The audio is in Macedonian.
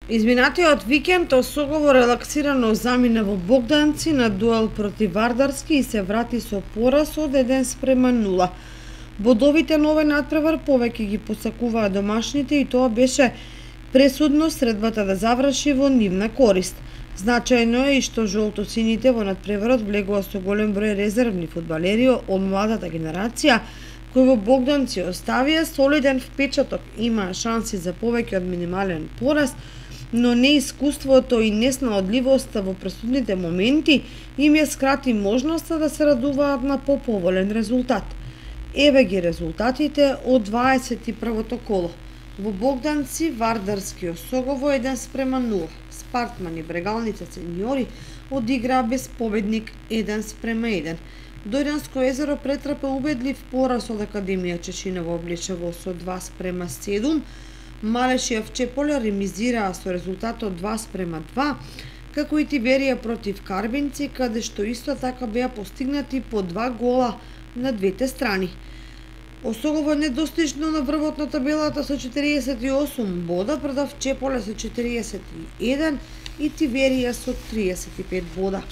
Изминатиот викенд Осогово релаксирано замина во Богданци на дуел против Вардарски и се врати со пораз од 1:0. Бодовите на овој надпревар повеќе ги посакуваа домашните и тоа беше пресудно средбата да заврши во нивна корист. Значајно е и што жолтосините во надпреварот влегува со голем број резервни фудбалери од младата генерација, кои во Богданци оставија солиден впечаток, имаа шанси за повеќе од минимален пораз, но неискуството и неснаодливоста во пресудните моменти им ја скрати можноста да се радуваат на поповолен резултат. Еве ги резултатите од 21-то коло. Во Богданци Вардарски Осогово 1:0. Спартман и Брегалница сеньори одиграа без победник 1:1. Дојданско езеро претрпе убедлив пораз од Академија Чешиново Обличево со 2:7. Малешијав Чепола ремизираа со резултатот 2:2, како и Тиберија против Карбинци, каде што исто така беа постигнати по 2 гола на двете страни. Осогово недостижно на врвот на табелата со 48 бода, предав Чеполе со 41 и Тиберија со 35 бода.